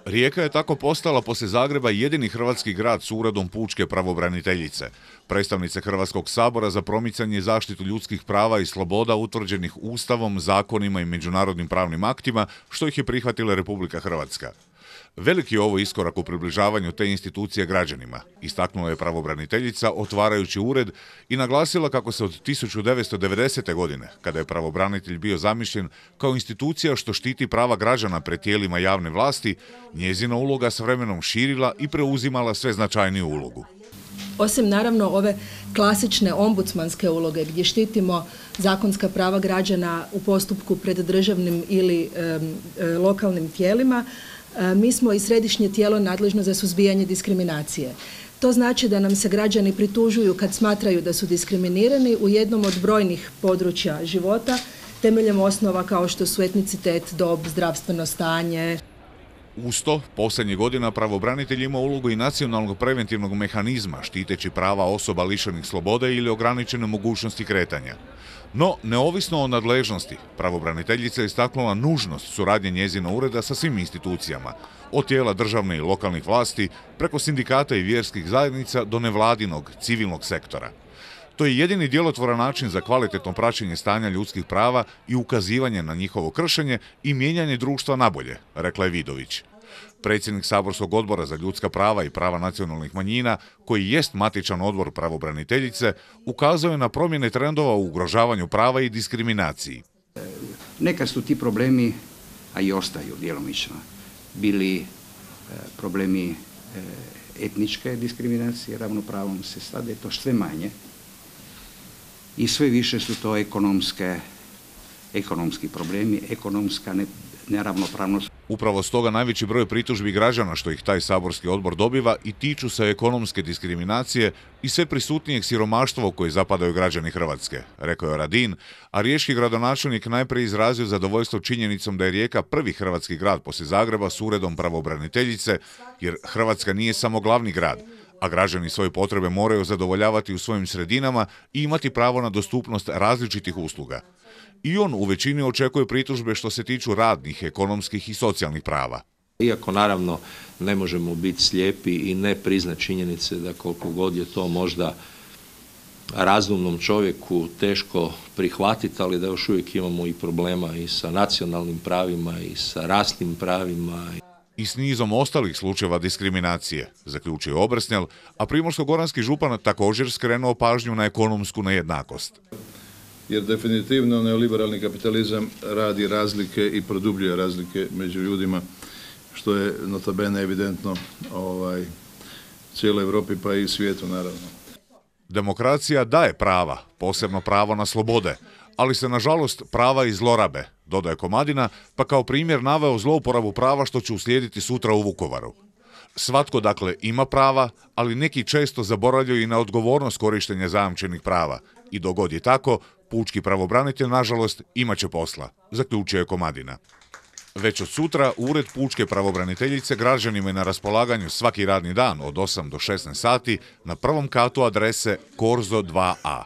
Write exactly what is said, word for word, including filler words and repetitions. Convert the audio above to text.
Rijeka je tako postala poslije Zagreba jedini hrvatski grad s uredom pučke pravobraniteljice. Predstavnice Hrvatskog sabora za promicanje i zaštitu ljudskih prava i sloboda utvrđenih Ustavom, zakonima i međunarodnim pravnim aktima, što ih je prihvatila Republika Hrvatska. Veliki je ovo iskorak u približavanju te institucije građanima, istaknula je pravobraniteljica otvarajući ured i naglasila kako se od tisuću devetsto devedesete. godine, kada je pravobranitelj bio zamišljen kao institucija što štiti prava građana pred tijelima javne vlasti, njezina uloga s vremenom širila i preuzimala sve značajniju ulogu. Osim naravno ove klasične ombudsmanske uloge gdje štitimo zakonska prava građana u postupku pred državnim ili e, e, lokalnim tijelima, e, mi smo i središnje tijelo nadležno za suzbijanje diskriminacije. To znači da nam se građani pritužuju kad smatraju da su diskriminirani u jednom od brojnih područja života temeljem osnova kao što su etnicitet, dob, zdravstveno stanje. Uz to, posljednjih godina pravobranitelj ima ulogu i nacionalnog preventivnog mehanizma štiteći prava osoba lišenih slobode ili ograničene mogućnosti kretanja. No, neovisno o nadležnosti, pravobraniteljica je istaknula nužnost suradnje njezina ureda sa svim institucijama, od tijela državne i lokalnih vlasti, preko sindikata i vjerskih zajednica do nevladinog, civilnog sektora. To je jedini djelotvoran način za kvalitetno praćenje stanja ljudskih prava i ukazivanje na njihovo kršenje i mijenjanje društva nabolje, rekla je Vidović. Predsjednik Saborskog odbora za ljudska prava i prava nacionalnih manjina, koji jest matičan odbor pravobraniteljice, ukazuje na promjene trendova u ugrožavanju prava i diskriminaciji. Nekad su ti problemi, a i ostaju djelomično, bili problemi etničke diskriminacije, ravnopravnom se sada je to sve manje. I sve više su to ekonomske, ekonomski problemi, ekonomska neravnopravnost. Upravo stoga najveći broj pritužbi građana što ih taj saborski odbor dobiva i tiču se ekonomske diskriminacije i sve prisutnijeg siromaštva u koje zapadaju građani Hrvatske, rekao je Radin, a riječki gradonačelnik najprije izrazio zadovoljstvo činjenicom da je Rijeka prvi hrvatski grad poslije Zagreba s uredom pravobraniteljice, jer Hrvatska nije samo glavni grad, a građani svoje potrebe moraju zadovoljavati u svojim sredinama i imati pravo na dostupnost različitih usluga. I on u većini očekuje pritužbe što se tiču radnih, ekonomskih i socijalnih prava. Iako naravno ne možemo biti slijepi i ne priznati činjenice da koliko god je to možda razumnom čovjeku teško prihvatiti, ali da još uvijek imamo i problema i sa nacionalnim pravima i sa rasnim pravima. I s nizom ostalih slučajeva diskriminacije, zaključio Obrsnjal, a primorsko-goranski župan također skrenuo pažnju na ekonomsku nejednakost. Jer definitivno neoliberalni kapitalizam radi razlike i produbljuje razlike među ljudima, što je nota bene evidentno ovaj, cijeloj Europi pa i svijetu naravno. Demokracija daje prava, posebno pravo na slobode, ali se nažalost prava i zlorabe, dodaje Komadina, pa kao primjer naveo zlouporabu prava što će uslijediti sutra u Vukovaru. Svatko dakle ima prava, ali neki često zaboravljaju i na odgovornost korištenja zajamčenih prava. I dok god je tako, pučki pravobranitelj, nažalost, imat će posla, zaključio je Komadina. Već od sutra Ured pučke pravobraniteljice građanima je na raspolaganju svaki radni dan od osam do šesnaest sati na prvom katu adrese Korzo dva a.